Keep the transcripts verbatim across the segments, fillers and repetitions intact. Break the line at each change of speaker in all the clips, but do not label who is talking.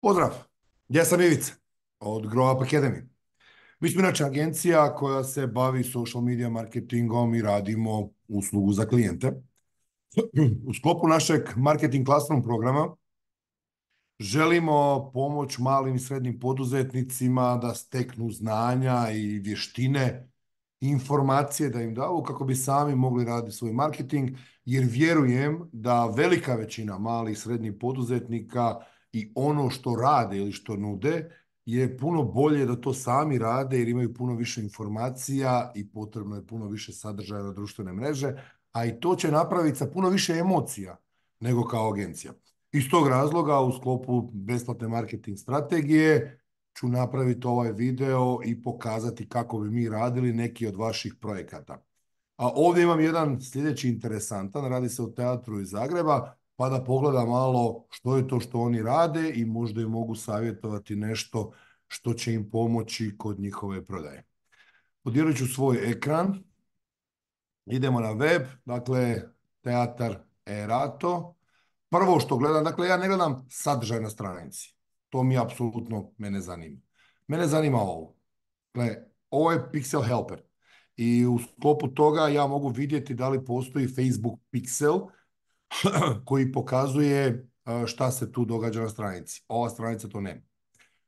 Pozdrav, ja sam Ivica od Grow Up Academy. Mi smo inače agencija koja se bavi social media marketingom i radimo uslugu za klijente. U sklopu našeg marketing classroom programa želimo pomoć malim i srednjim poduzetnicima da steknu znanja i vještine, informacije da im daju kako bi sami mogli raditi svoj marketing, jer vjerujem da velika većina malih i srednjih poduzetnika i ono što rade ili što nude je puno bolje da to sami rade jer imaju puno više informacija i potrebno je puno više sadržaja na društvene mreže, a i to će napraviti sa puno više emocija nego kao agencija. Iz tog razloga u sklopu besplatne marketing strategije ću napraviti ovaj video i pokazati kako bi mi radili neki od vaših projekata. A ovdje imam jedan sljedeći interesantan, radi se o teatru iz Zagreba, pa da pogledam malo što je to što oni rade i možda im mogu savjetovati nešto što će im pomoći kod njihove prodaje. Podijelit ću svoj ekran, idemo na web, dakle Teatar Erato. Prvo što gledam, dakle ja ne gledam sadržaj na stranici. To mi apsolutno mene zanima. Mene zanima ovo. Dakle, ovo je Pixel Helper. I u sklopu toga ja mogu vidjeti da li postoji Facebook Pixel koji pokazuje šta se tu događa na stranici. Ova stranica to nema.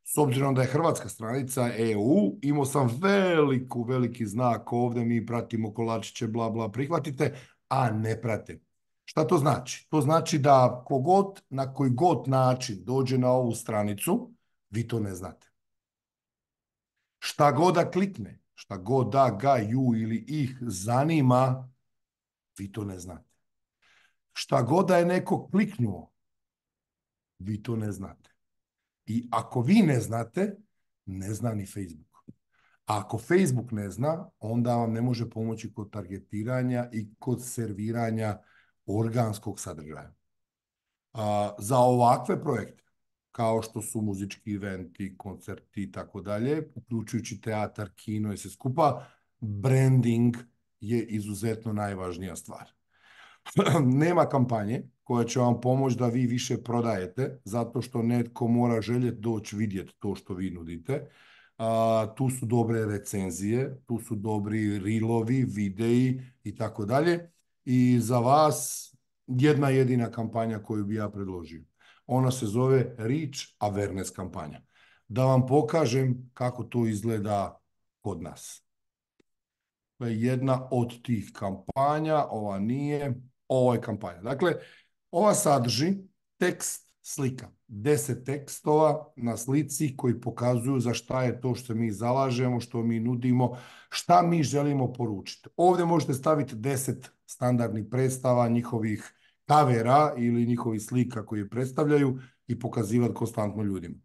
S obzirom da je hrvatska stranica E U, imao sam veliku, veliki znak ovdje, mi pratimo kolačiće, bla, bla, prihvatite, a ne prate. Šta to znači? To znači da kogod, na koji god način dođe na ovu stranicu, vi to ne znate. Šta god da klikne, šta god da ga, ju ili ih zanima, vi to ne znate. Šta god da je neko kliknuo, vi to ne znate. I ako vi ne znate, ne zna ni Facebook. A ako Facebook ne zna, onda vam ne može pomoći kod targetiranja i kod serviranja organskog sadržaja. A, za ovakve projekte, kao što su muzički eventi, koncerti i tako dalje, uključujući teatar, kino i sve skupa, branding je izuzetno najvažnija stvar. Nema kampanje koja će vam pomoći da vi više prodajete, zato što netko mora željeti doći vidjeti to što vi nudite. A, tu su dobre recenzije, tu su dobri reelovi, videi i tako dalje. I za vas jedna jedina kampanja koju bi ja predložio. Ona se zove Reach Awareness kampanja. Da vam pokažem kako to izgleda kod nas. To je jedna od tih kampanja, ova nije, ovo je kampanja. Dakle, ova sadrži tekst, slika, deset tekstova na slici koji pokazuju za šta je to što mi zalažemo, što mi nudimo, šta mi želimo poručiti. Ovdje možete staviti deset standardnih predstava, njihovih kavera ili njihovih slika koje predstavljaju i pokazivati konstantno ljudima.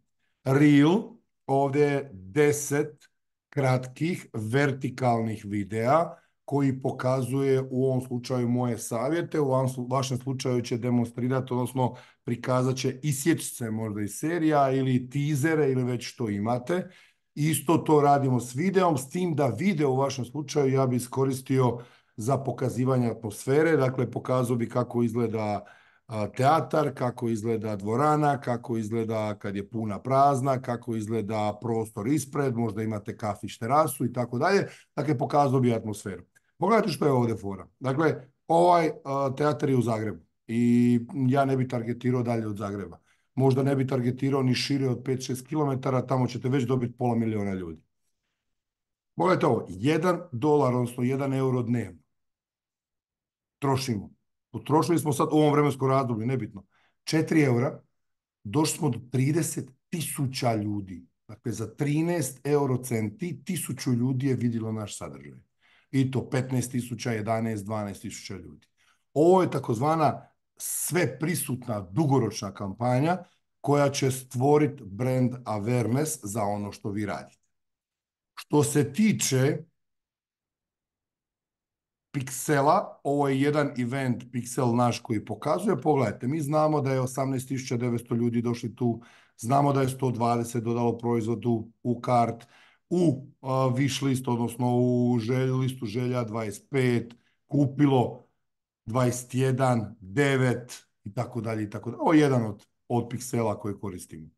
Reel, ovdje je deset kratkih vertikalnih videa koji pokazuje u ovom slučaju moje savjete, u vašem slučaju će demonstrirati, odnosno prikazat će isječce možda iz serija ili teasere ili već što imate. Isto to radimo s videom, s tim da video u vašem slučaju ja bi iskoristio za pokazivanje atmosfere, dakle pokazao bi kako izgleda teatar, kako izgleda dvorana, kako izgleda kad je puna prazna, kako izgleda prostor ispred, možda imate kafić, terasu i tako dalje. Dakle, pokazao bi atmosferu. Pogledajte što je ovdje fora. Dakle, ovaj uh, teatar je u Zagrebu i ja ne bi targetirao dalje od Zagreba. Možda ne bi targetirao ni šire od pet do šest kilometara, tamo ćete već dobiti pola miliona ljudi. Pogledajte ovo, jedan dolar, odnosno jedan euro dnevno. Trošimo. Potrošili smo sad u ovom vremenskom razdoblju, nebitno, četiri eura, došli smo do trideset tisuća ljudi. Dakle, za trinaest euro centi tisuću ljudi je vidjelo naš sadržaj. I to petnaest tisuća, jedanaest, dvanaest tisuća ljudi. Ovo je takozvana sve prisutna dugoročna kampanja koja će stvoriti brand awareness za ono što vi radite. Što se tiče Pixela, ovo je jedan event Pixel naš koji pokazuje, pogledajte, mi znamo da je osamnaest tisuća devetsto ljudi došli tu, znamo da je sto dvadeset dodalo proizvodu u kart, u uh, wish list, odnosno u želj, listu želja dvadeset pet, kupilo dvadeset jedan, devet i tako dalje i tako dalje. Ovo je jedan od, od Pixela koje koristimo.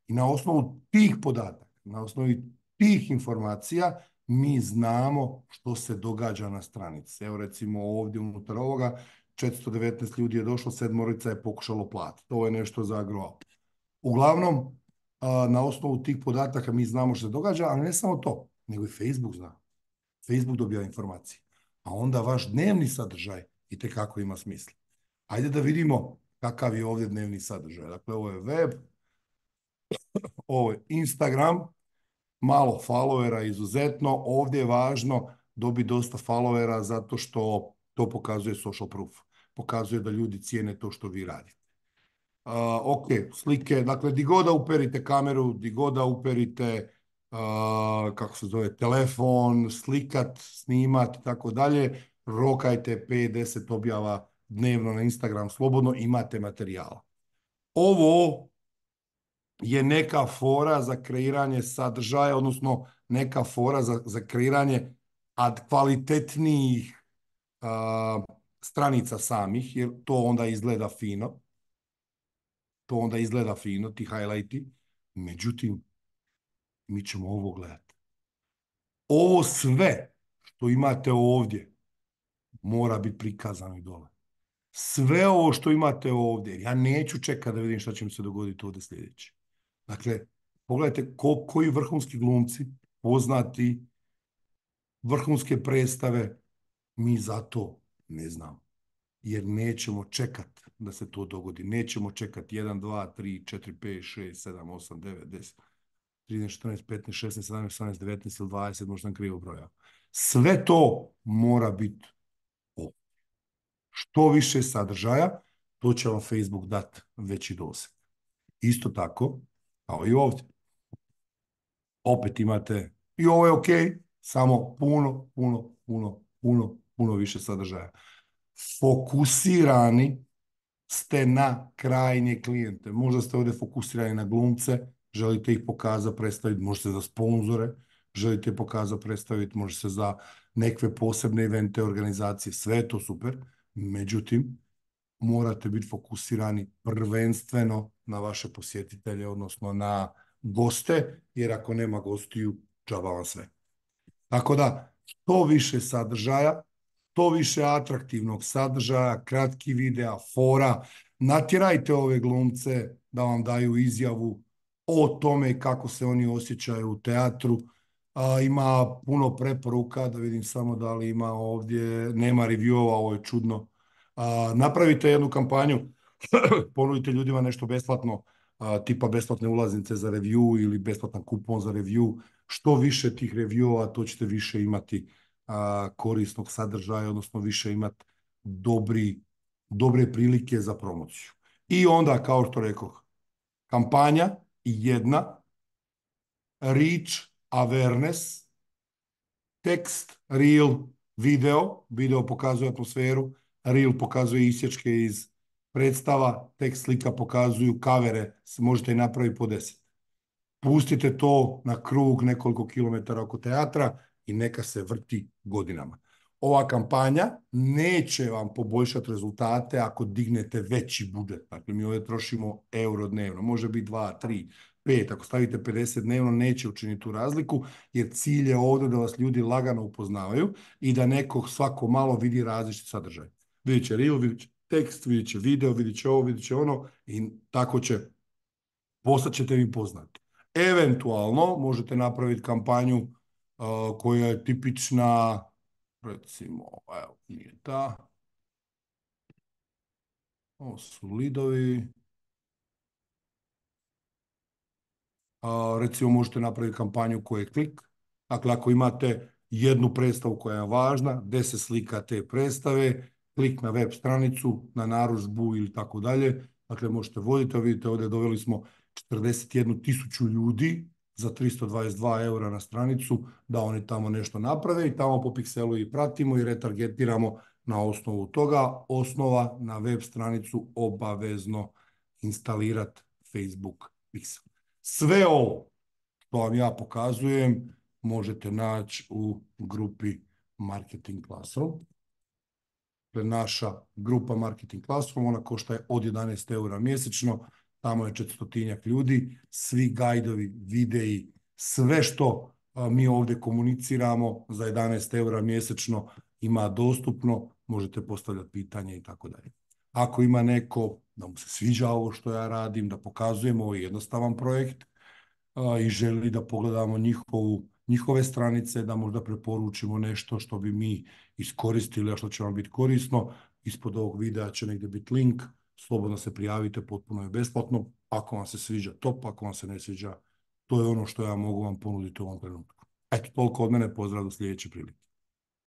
I na osnovu tih podataka, na osnovi tih informacija, mi znamo što se događa na stranici. Evo recimo ovdje unutar ovoga, četiristo devetnaest ljudi je došlo, sedmorica je pokušalo platiti. To je nešto za grow. Uglavnom, na osnovu tih podataka mi znamo što se događa, ali ne samo to, nego i Facebook zna. Facebook dobija informacije. A onda vaš dnevni sadržaj itekako ima smisla. Ajde da vidimo kakav je ovdje dnevni sadržaj. Dakle, ovo je web, ovo je Instagram, malo followera izuzetno. Ovdje je važno dobiti dosta followera zato što to pokazuje social proof. Pokazuje da ljudi cijene to što vi radite. Uh, ok, slike, dakle, di god da uperite kameru, di god da uperite, uh, kako se zove, telefon, slikat, snimat i tako dalje, rokajte pet do deset objava dnevno na Instagram, slobodno imate materijala. Ovo je neka fora za kreiranje sadržaja, odnosno neka fora za, za kreiranje ad kvalitetnijih uh, stranica samih, jer to onda izgleda fino. To onda izgleda fino, ti highlighti. Međutim, mi ćemo ovo gledati. Ovo sve što imate ovdje mora biti prikazano i dole. Sve ovo što imate ovdje, ja neću čekati da vidim šta će mi se dogoditi ovdje sljedeće. Dakle, pogledajte ko, koji vrhunski glumci, poznati, vrhunske predstave, mi zato ne znamo. Jer nećemo čekati da se to dogodi. Nećemo čekati jedan, dva, tri, četiri, pet, šest, sedam, osam, devet, deset, trinaest, četrnaest, petnaest, šesnaest, sedamnaest, osamnaest, devetnaest ili dvadeset, možda sam krivo brojao. Sve to mora biti ovdje. Što više sadržaja, to će vam Facebook dati veći doseg. Isto tako, kao i ovdje. Opet imate, i ovo je ok, samo puno, puno, puno, puno, puno više sadržaja. Fokusirani ste na krajnje klijente. Možda ste ovdje fokusirani na glumce, želite ih pokazati, predstaviti, možete za sponzore, želite pokazati, predstaviti, možete za nekve posebne evente, organizacije, sve je to super. Međutim, morate biti fokusirani prvenstveno na vaše posjetitelje, odnosno na goste, jer ako nema gostiju, džaba vam sve. Tako da, što više sadržaja, to više atraktivnog sadržaja, kratki videa, fora, natjerajte ove glumce da vam daju izjavu o tome kako se oni osjećaju u teatru. A, ima puno preporuka, da vidim samo da li ima ovdje, nema reviewova, ovo je čudno. A, napravite jednu kampanju, ponudite ljudima nešto besplatno, a, tipa besplatne ulaznice za review ili besplatan kupon za review. Što više tih reviewova, to ćete više imati a, korisnog sadržaja, odnosno više imati dobri, dobre prilike za promociju. I onda, kao što rekoh, kampanja jedna, reach, awareness, tekst, reel, video, video pokazuje atmosferu, reel pokazuje isječke iz predstava, tekst, slika pokazuju kavere, možete i napraviti po deset. Pustite to na krug nekoliko kilometara oko teatra i neka se vrti godinama. Ova kampanja neće vam poboljšati rezultate ako dignete veći budžet. Dakle, mi ovdje trošimo euro dnevno. Može biti dva, tri, pet. Ako stavite pedeset dnevno, neće učiniti tu razliku, jer cilj je ovdje da vas ljudi lagano upoznavaju i da neko svako malo vidi različit sadržaj. Vidjet će reel, vidjet će tekst, vidjet će video, vidjet će ovo, vidjet će ono i tako će, postat ćete vi poznati. Eventualno možete napraviti kampanju uh, koja je tipična, recimo, evo, nije ta. Ovo su lidovi. Uh, recimo možete napraviti kampanju koja je klik. Dakle, ako imate jednu predstavu koja je važna, deset slika te predstave, klik na web stranicu, na narudžbu ili tako dalje. Dakle, možete voditi, vidite ovdje doveli smo četrdeset jednu tisuću ljudi za tristo dvadeset dva eura na stranicu, da oni tamo nešto naprave i tamo po pikselu i pratimo i retargetiramo na osnovu toga. Osnova na web stranicu obavezno instalirati Facebook Pixel. Sve ovo što vam ja pokazujem možete naći u grupi Marketing Classroom. Naša grupa Marketing Classroom, ona košta od jedanaest eura mjesečno. tamo je četristotinjak ljudi, svi gajdovi, videi, sve što a, mi ovdje komuniciramo za jedanaest eura mjesečno ima dostupno, možete postavljati pitanje i tako dalje. Ako ima neko da mu se sviđa ovo što ja radim, da pokazujem ovo je jednostavan projekt a, i želi da pogledamo njihovu, njihove stranice, da možda preporučimo nešto što bi mi iskoristili, a što će vam biti korisno, ispod ovog videa će negdje biti link, slobodno se prijavite, potpuno je besplatno. Ako vam se sviđa, top, ako vam se ne sviđa, to je ono što ja mogu vam ponuditi u ovom trenutku. Eto, toliko od mene, pozdrav do sljedeće prilike.